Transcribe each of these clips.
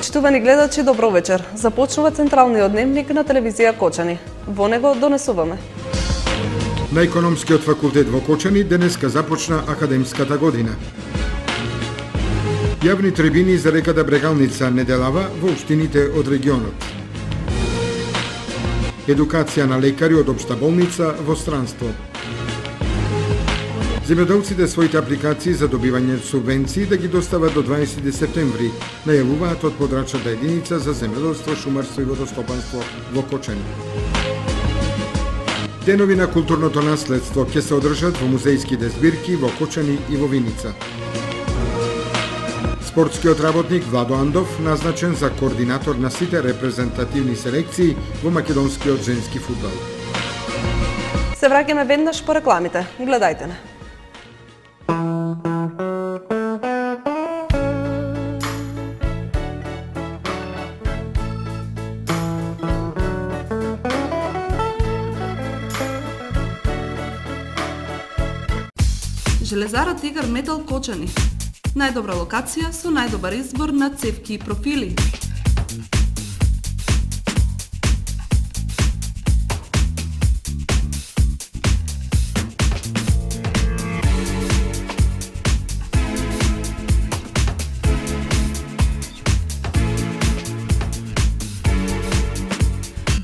Почитувани гледачи, добро вечер. Започнува централниот дневник на телевизија Кочани. Во него донесуваме. На Економскиот факултет во Кочани денеска започна академската година. Јавни трибини за реката Брегалница неделава во општините од регионот. Едукација на лекари од општа болница во странство. Земјоделците своите апликации за добивање субвенции да ги достават до 20 септември, најавуваат од подрачната единица за земјоделство, шумарство и водостопанство во Кочани. Денови на културното наследство ќе се одржат во музејските збирки во Кочани и во Виница. Спортскиот работник Владо Андов назначен за координатор на сите репрезентативни селекции во македонскиот женски фудбал. Се враќаме веднаш по рекламите. Гледајте не. Железара Тигар Метал Кочани. Најдобра локација со најдобар избор на цевки и профили.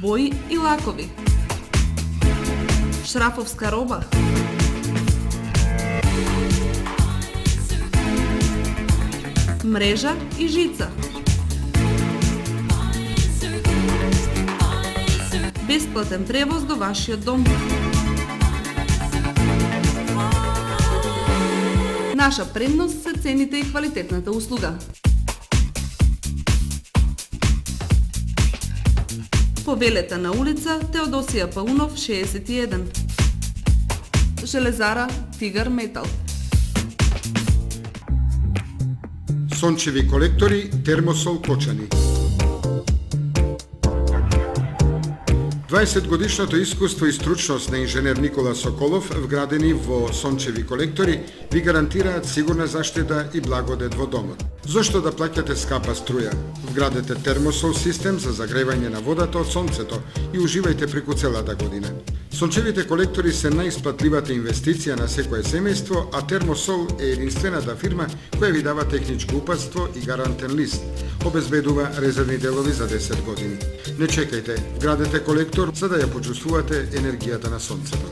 Бои и лакови. Шрафовска роба. Мрежа и жица. Бесплатен превоз до вашиот дом. Наша предност се цените и квалитетната услуга. Повелете на улица Теодосија Паунов 61. Железара Тигар Метал. Сончеви колектори Термосол Кочани. 20 годишното искуство и стручност на инженер Никола Соколов вградени во сончеви колектори ви гарантираат сигурна заштита и благодет во домот. Зошто да плаќате скапа струја? Вградете Термосол систем за загревање на водата од сонцето и уживајте преку целата година. Сончевите колектори се најисплатливата инвестиција на секое семејство, а Термосол е единствената фирма која ви дава техничко упатство и гарантен лист. Обезбедува резервни делови за 10 години. Не чекајте, вградете колектор за да ја почувствувате енергијата на сонцето.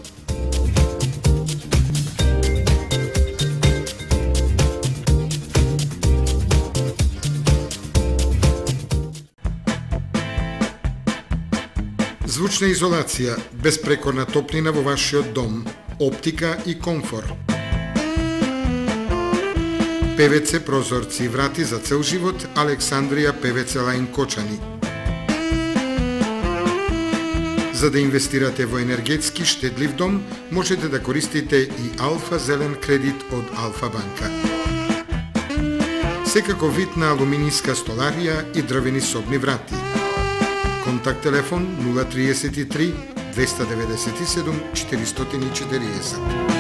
Звучна изолација, безпрекорна топлина во вашиот дом, оптика и комфор. ПВЦ прозорци и врати за цел живот, Александрија ПВЦ Лајн Кочани. За да инвестирате во енергетски штедлив дом, можете да користите и Алфа Зелен кредит од Алфа банка. Секако вид на алуминијска столарија и дрвени собни врати. Контакт телефон 033 297 440.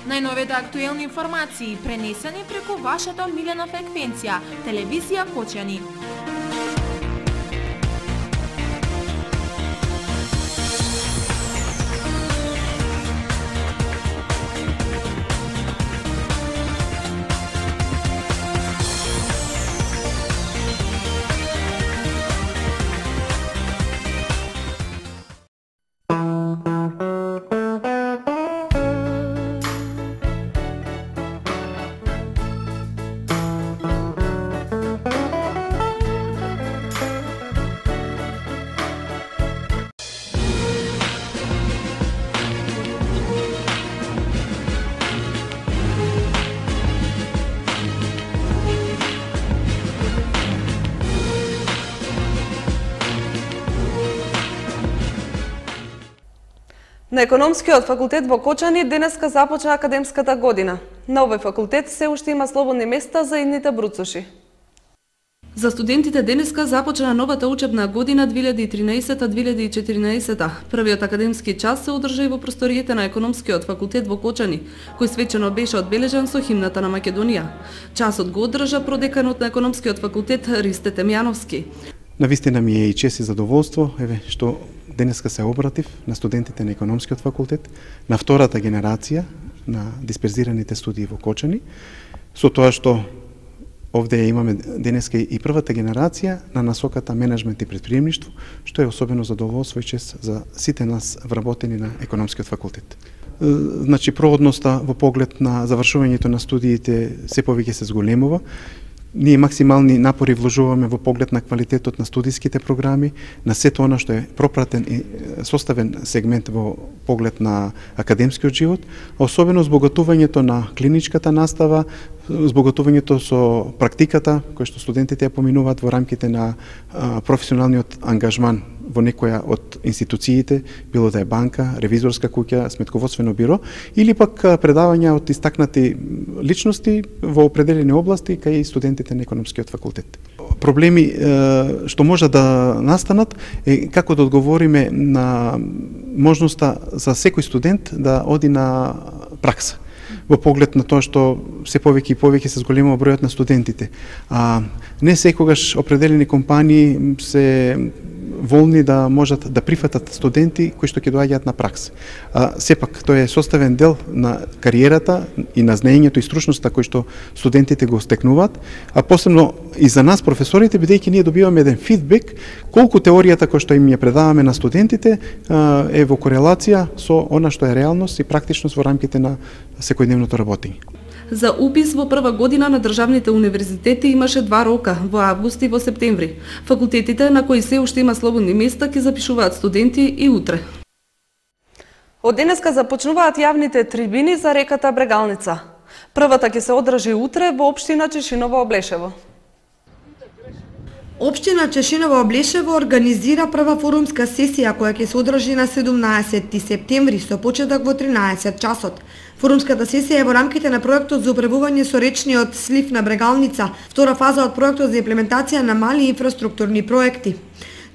Најновите актуелни информации пренесени преку вашата омилена фреквенција, телевизија Кочани. На Економскиот факултет во Кочани денеска започна академската година. На овој факултет се уште има слободни места за идните бруцуши. За студентите денеска започна новата учебна година 2013-2014. Првиот академски час се одржа и во просториите на Економскиот факултет во Кочани, кој свечено беше одбележан со химната на Македонија. Часот го одржа продеканот на Економскиот факултет Ристе Темјановски. Навистина ми е и чест и задоволство, што денеска се обратив на студентите на Економскиот факултет, на втората генерација на дисперзираните студии во Кочани, со тоа што овде имаме денеска и првата генерација на насоката менеджмент и претприемништво, што е особено задоволство и чест за сите нас вработени на Економскиот факултет. Значи, проодноста во поглед на завршувањето на студиите се повеќе се зголемува. Ние максимални напори вложуваме во поглед на квалитетот на студиските програми, на сето она што е пропратен и составен сегмент во поглед на академскиот живот, а особено збогатувањето на клиничката настава, збогатувањето со практиката, која што студентите ја поминуваат во рамките на професионалниот ангажман во некоја од институциите, било да е банка, ревизорска куќа, сметководствено биро, или пак предавања од истакнати личности во определени области кај студентите на Економскиот факултет. Проблеми што може да настанат е како да одговориме на можноста за секој студент да оди на пракса, во поглед на тоа што се повеќе и повеќе се зголемува бројот на студентите. Не секогаш определени компании се волни да можат да прифатат студенти кои што ќе доаѓаат на пракса. Сепак, тој е составен дел на кариерата и на знаењето и стручноста кои што студентите го стекнуваат, а посебно и за нас професорите, бидејќи ние добиваме еден фидбек колку теоријата која што им ја предаваме на студентите е во корелација со она што е реалност и практичност во рамките на секојдневното работење. За упис во прва година на државните универзитети имаше 2 рока, во август и во септември. Факултетите на кои се уште има слободни места ќе запишуваат студенти и утре. Од денеска започнуваат јавните трибини за реката Брегалница. Првата ќе се одржи утре во општина Чешиново-Облешево. Општина Чешиново-Облешево организира прва форумска сесија која ќе се одржи на 17 септември со почеток во 13 часот. Форумската сесија е во рамките на проектот за управување со речниот слив на Брегалница, втора фаза од проектот за имплементација на мали инфраструктурни проекти.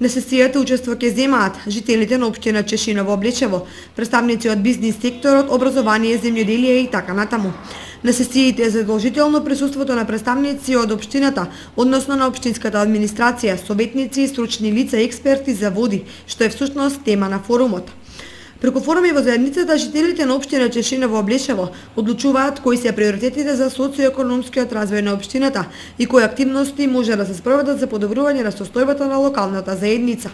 На сесијата учество ќе земаат жителите на општина Чешиново-Облешево, представници од бизнис секторот, образование, земјоделие и така натаму. На сесиите е задолжително присуството на представници од општината, односно на општинската администрација, советници и стручни лица и експерти за води, што е всушност тема на форумот. Преку форуми во заедницата, жителите на општина Чешиново-Облешево одлучуваат кои се приоритетите за социоекономскиот развој на општината и кои активности може да се спроведат за подобрување на состојбата на локалната заедница.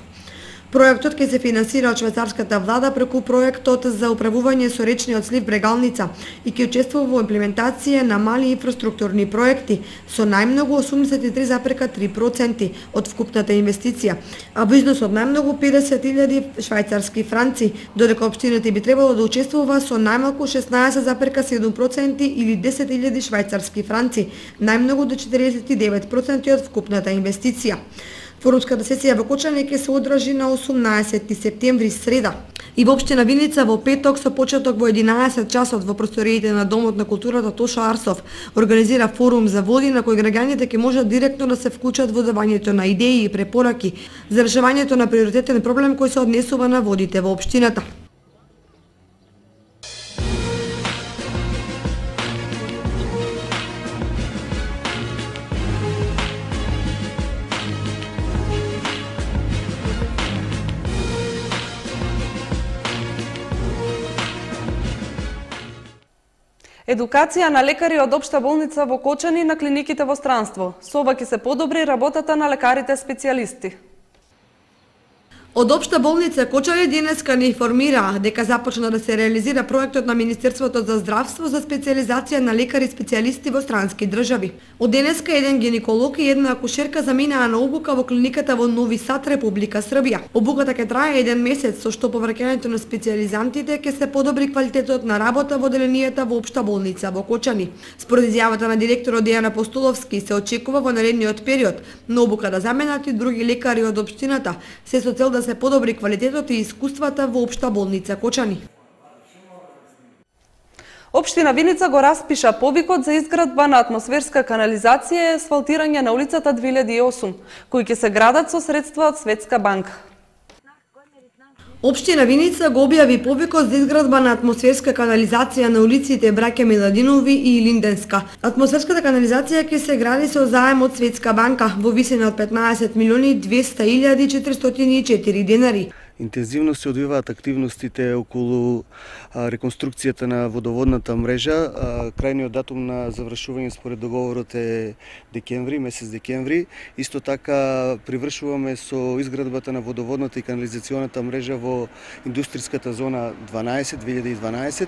Проектот ќе се финансира од швајцарската влада преку проектот за управување со речниот слив Брегалница и ќе учествува во имплементација на мали инфраструктурни проекти со најмногу 83,3% од вкупната инвестиција, а во износ од најмногу 50.000 швајцарски франци, додека општината би требало да учествува со најмалку 16,7% или 10.000 швајцарски франци, најмногу до 49% од вкупната инвестиција. Форумската сесија во Кочани ќе се одржи на 18 септември среда и во општина Виница во петок со почеток во 11 часот во просториите на Домот на културата Тошо Арсов организира форум за води на кој граѓаните ќе можат директно да се вклучат во давањето на идеи и препораки за решавањето на приоритетен проблем кој се однесува на водите во општината. Едукација на лекари од Општа болница во Кочани на клиниките во странство. Со ова ќе се подобри работата на лекарите специјалисти. Од Општа болница Кочани денеска ни информира дека започна да се реализира проектот на Министерството за здравство за специјализација на лекари специјалисти во странски држави. Од денеска еден гинеколог и една акушерка заминаа на обука во клиниката во Нови Сад, Република Србија. Обуката ќе трае 1 месец, со што по враќањето на специјализантите ќе се подобри квалитетот на работа во одделенијата во Општа болница во Кочани. Според изјавата на директорот Дејан Апостоловски, се очекува во наредниот период на обука да заменат и други лекари од општината, се со цел да се подобри квалитетот и искуствата во Општа болница Кочани. Општина Виница го распиша повикот за изградба на атмосферска канализација и асфалтирање на улицата 2008, кои ќе се градат со средства од Светска банка. Општина Виница го објави повикот за изградба на атмосферска канализација на улиците Браќа Миладинови и Линденска. Атмосферската канализација ќе се гради со заем од Светска банка во висина од 15.200.404 денари. Интензивно се одвиваат активностите околу реконструкцијата на водоводната мрежа. Крајниот датум на завршување според договорот е декември, месец декември. Исто така привршуваме со изградбата на водоводната и канализационата мрежа во индустријската зона 2012.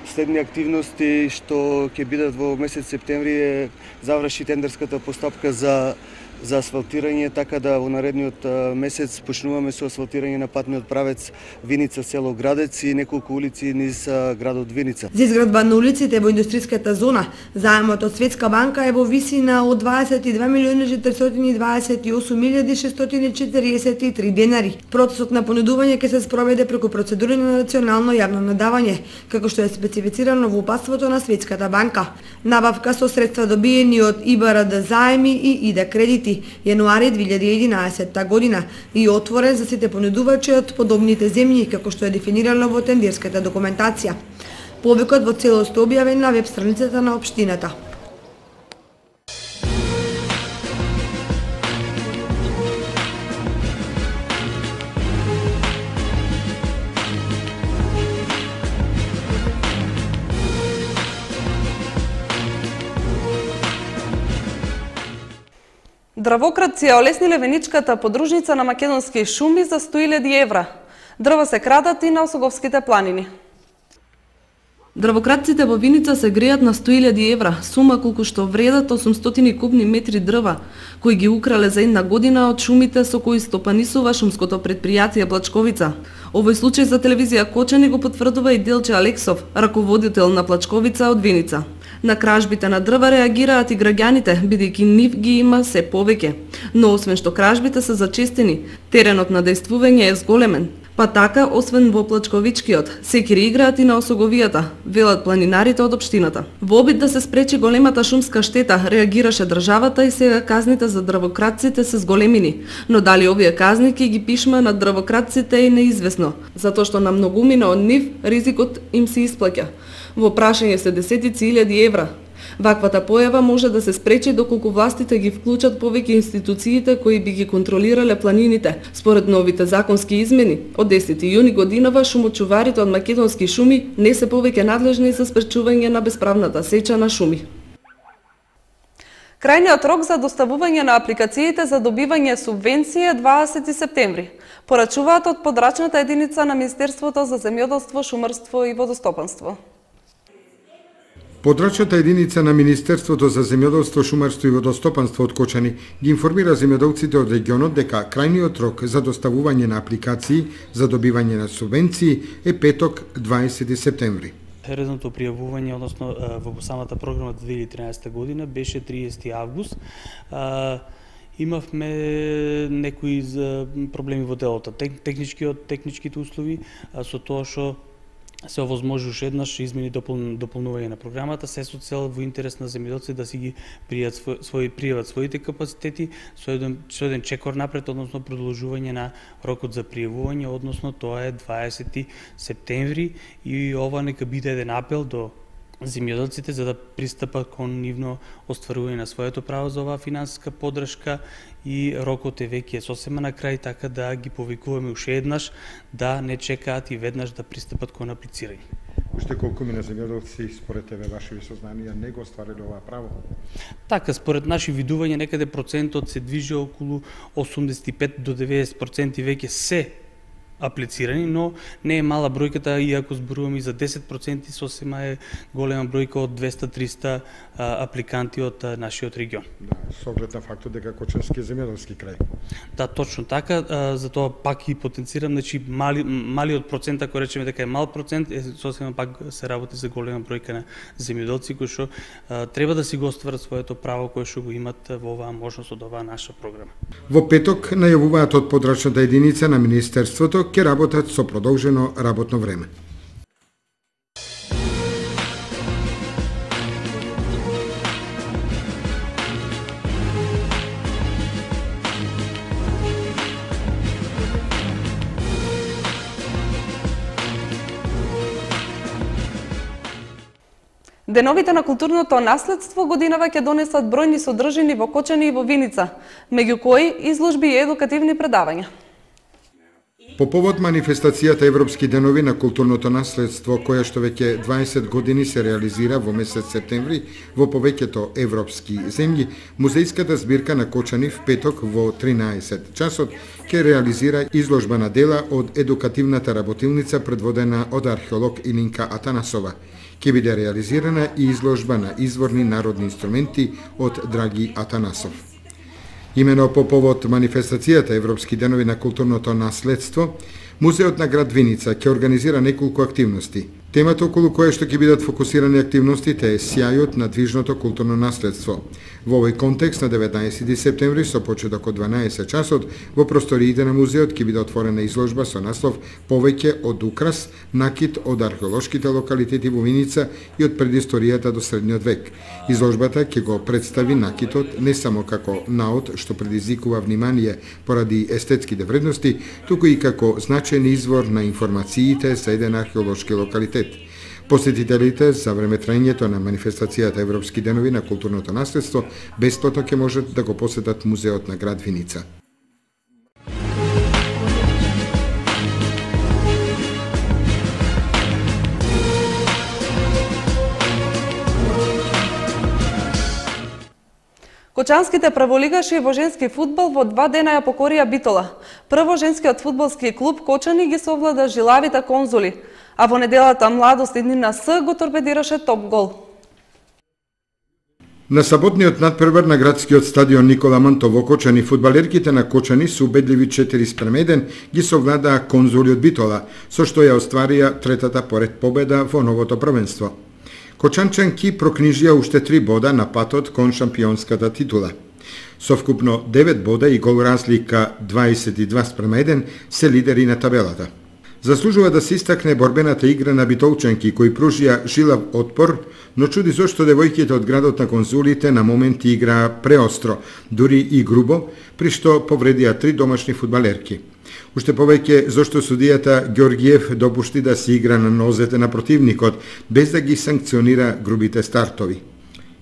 Следни активности што ќе бидат во месец септември е заврши тендерската постапка за асфалтирање, така да во наредниот месец почнуваме со асфалтирање на патниот правец Виница село Градец и неколку улици низ градот Виница. За изградба на улиците во индустријската зона, заемот од Светска банка е во висина од 22.428.643 денари. Процесот на понудување ќе се спроведе преку процедури на национално јавно надавање, како што е специфицирано во упатството на Светската банка. Набавка со средства добиени од ИБРД заеми и ИДА кредити јануари 2011 година и отворен за сите понудувачи од подобните земји, како што е дефинирано во тендерската документација. Повикот во целост објавен на веб страницата на општината. Дрвократци ја олесниле веничката подружница на македонски шуми за 100.000 евра. Дрва се крадат и на Осоговските планини. Дрвократците во Виница се греат на 100.000 евра, сума колку што вредат 800 кубни метри дрва, кои ги украле за една година од шумите со кои стопанисува шумското предпријатие Плачковица. Овој случај за телевизија Кочани го потврдува и Делче Алексов, раководител на Плачковица од Виница. На кражбите на дрва реагираат и граѓаните, бидејќи нив ги има се повеќе. Но освен што кражбите се зачестени, теренот на дејствување е зголемен. Па така, освен во Плачковичкиот, секири играат и на Осоговијата, велат планинарите од општината. Во обид да се спречи големата шумска штета, реагираше државата и сега казните за дрвократците се зголемини. Но дали овие казни ќе ги пишма на дрвократците е неизвестно, затоа што на многумина од нив ризикот им се исплаќа. Во прашање се десетици илјади евра. Ваквата појава може да се спречи доколку властите ги вклучат повеќе институциите кои би ги контролирале планините. Според новите законски измени, од 10 јуни годинава шумочуварите од македонски шуми не се повеќе надлежни за спречување на бесправната сеча на шуми. Крајниот рок за доставување на апликациите за добивање субвенција е 20 септември. Порачуваат од подрачната единица на Министерството за земјоделство, шумарство и водостопанство. Подрачната единица на Министерството за земјоделство, шумарство и водостопанство од Кочани ги информира земјоделците од регионот дека крајниот рок за доставување на апликации за добивање на субвенции е петок 20 септември. Редовното пријавување, односно во самата програма 2013 година беше 30 август. Имавме некои проблеми во делото, техничките услови, со тоа што се овозможуваше еднаш измени дополнување на програмата, се со цел во интерес на земјоделците да си ги пријават своите капацитети со еден чекор напред, односно продолжување на рокот за пријавување, односно тоа е 20 септември и ова нека биде еден апел до земјоделците за да пристапат кон нивно остварување на своето право за оваа финансиска поддршка и рокот е веќе сосема на крај, така да ги повикуваме уште еднаш да не чекаат и веднаш да пристапат кон аплицирање. Уште колку мина земјоделци според тебе ваши сознанија не го оствариле ова право? Така, според наши видувања некаде процентот се движи околу 85 до 90% веќе се аплицирани, но не е мала бројката, иако зборуваме и за 10%, сосема е голема бројка од 200-300 апликанти од нашиот регион. Да, со оглед на фактот дека Кочански е земјоделски крај. Да, точно така, затоа пак и потенцирам, значи малиот процент, ако речеме дека е мал процент, сосема пак се работи за голема бројка на земјоделци кои што треба да си го остварат своето право кое што го имат во оваа можност од оваа наша програма. Во петок најавуваат од подрачната единица на Министерството ќе работат со продолжено работно време. Деновите на културното наследство годинава ќе донесат бројни содржини во Кочани и во Виница, меѓу кои изложби и едукативни предавања. По повод манифестацијата Европски денови на културното наследство, која што веќе 20 години се реализира во месец септември во повеќето европски земји, музејската збирка на Кочани в петок во 13 часот ќе реализира изложба на дела од едукативната работилница предводена од археолог Илинка Атанасова. Ќе биде реализирана и изложба на изворни народни инструменти од Драги Атанасов. Имено по повод манифестацијата Европски денови на културното наследство, Музеот на град Виница ќе организира неколку активности. Темата околу која што ќе бидат фокусирани активностите е сјајот на движното културно наследство. Во овој контекст на 19 септември со почеток од 12 часот во просториите на музеот ќе биде отворена изложба со наслов "Повеќе од украс, накид од археолошките локалитети во Виница и од предисторијата до средниот век". Изложбата ќе го представи накитот не само како наод што предизвикува внимание поради естетските вредности, туку и како значаен извор на информациите за еден археолошки локалитет. Посетителите за време трајањето на манифестацијата Европски денови на културното наследство бесплатно ќе можат да го посетат музеот на град Виница. Кочанските прволигаши во женски фудбал во 2 дена ја покорија Битола. Прво женскиот фудбалски клуб Кочани ги совлада жилавите Конзули, а во неделата Младост Иднина С го торпедираше топ гол. На саботниот надпревар на градскиот стадион Никола Манто во Кочани, фудбалерките на Кочани со убедливи 4:1 ги совладаа Конзули од Битола, со што ја остварија третата поред победа во новото првенство. Кочанчанки прокнижија уште 3 бода на патот кон шампионската титула. Со вкупно 9 бода и гол разлика 22:1 се лидери на табелата. Заслужува да се истакне борбената игра на битолчанки кои пружија жилав отпор, но чуди зошто девојките од градот на Конзулите на моменти играа преостро, дури и грубо, при што повредија 3 домашни фудбалерки. Уште повеќе зошто судијата Ѓоргиев допушти да се игра на нозете на противникот, без да ги санкционира грубите стартови.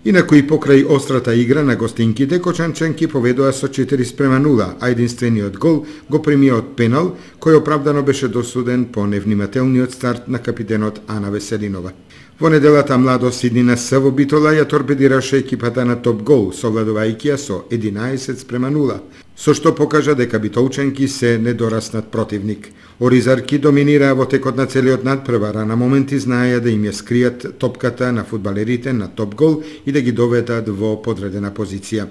Инаку и покрај острата игра на гостинките, кочанчанки поведоа со 4:0, а единствениот гол го примија од пенал, кој оправдано беше досуден по невнимателниот старт на капитенот Ана Веселинова. Во неделата Младост Иднина С во Битола ја торпедираше екипата на топ гол, совладувајќи ја со 11:0, со што покажа дека битолчанки се недораснат противник. Оризарки доминираа во текот на целиот надпревар, а на моменти знаеја да им ја скријат топката на фудбалерите на топ гол и да ги доведат во подредена позиција.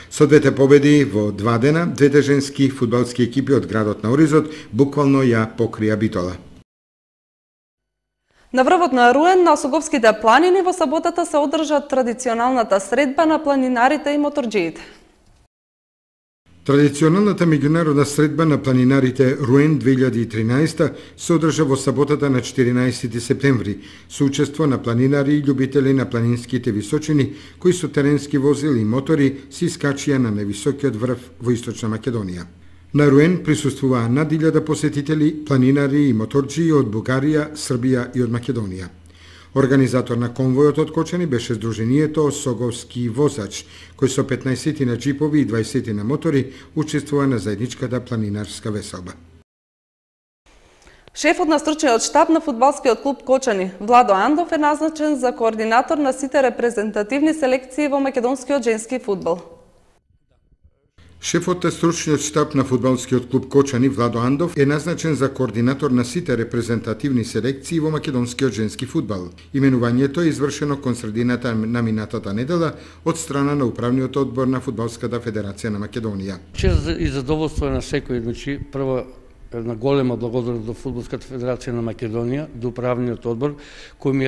Со двете победи во 2 дена, двете женски фудбалски екипи од градот на Оризот буквално ја покрија Битола. На врвот на Руен на Осоговските планини во саботата се одржа традиционалната средба на планинарите и моторџиите. Традиционалната меѓународна средба на планинарите Руен 2013 се одржа во саботата на 14 септември со учество на планинари и љубители на планинските височини кои со теренски возили и мотори се искачија на највисокиот врв во Источна Македонија. На Руен присуствуваа над 1000 посетители, планинари и моторџии од Бугарија, Србија и од Македонија. Организатор на конвојот од Кочани беше Сдруженијето Осоговски возач, кој со 15 на джипови и 20 на мотори учествува на заедничката планинарска веселба. Шефот на стручниот штаб на фудбалскиот клуб Кочани, Владо Андов, е назначен за координатор на сите репрезентативни селекции во македонскиот женски фудбал. Шефот на стручниот штаб на фудбалскиот клуб Кочани, Владо Андов, е назначен за координатор на сите репрезентативни селекции во македонскиот женски фудбал. Именувањето е извршено кон средината на минатата недела од страна на управниот одбор на Фудбалската федерација на Македонија. Чест и задоволство на секој, значи прво една голема благодарност до Фудбалската федерација на Македонија, до управниот одбор кој ми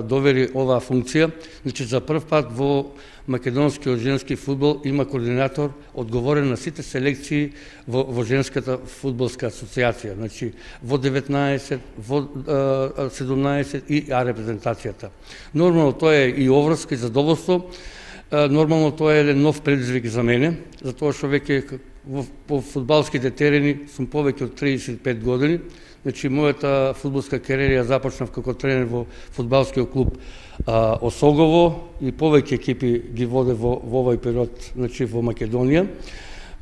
довери оваа функција. Значи за прв пат во македонскиот женски фудбал има координатор одговорен на сите селекции во женската фудбалска асоциација, значи во 19, во 17 и А репрезентацијата. Нормално тоа е и оврска и задоволство. Нормално тоа е еден нов предизвик за мене, затоа што веќе по фудбалските терени сум повеќе од 35 години. Значи, мојата фудбалска кариера ја започнав како тренер во фудбалскиот клуб Осогово и повеќе екипи ги воде во овој период, значи во Македонија.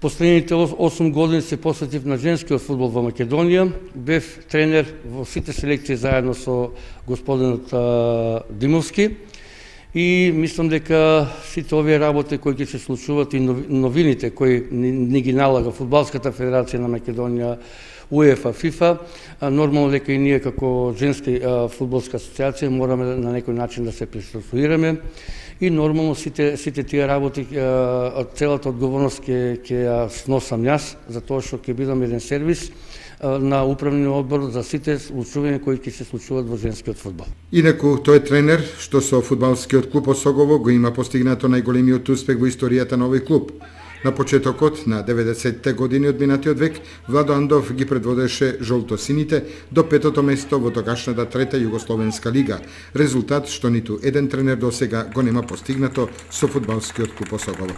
Последните 8 години се посветив на женскиот фудбал во Македонија. Бев тренер во сите селекции заедно со господинот Димовски. И мислам дека сите овие работи кои ќе се случуваат и новините кои ни ги налага Фудбалската федерација на Македонија, УЕФА, ФИФА, нормално дека и ние како женска фудбалска асоциација мораме на некој начин да се пристосуваме и нормално сите тие работи, целата одговорност ќе ја сносам јас, затоа што ќе бидам еден сервис на управниот одбор за сите случувања кои ќе се случуваат во женскиот фудбал. Инаку тој е тренер што со фудбалскиот клуб Осогово го има постигнато најголемиот успех во историјата на овој клуб. На почетокот на 90-те години од минатиот век, Владо Андов ги предводеше жолто-сините до 5-то место во тогашната трета Југословенска лига, резултат што ниту еден тренер досега го нема постигнато со фудбалскиот клуб Осогово.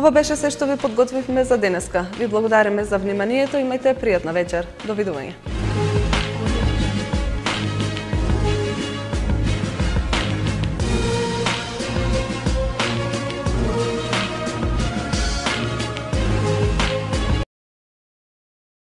Ова беше се што ви подготвивме за денеска. Ви благодариме за вниманието, имајте пријатна вечер. Довидување.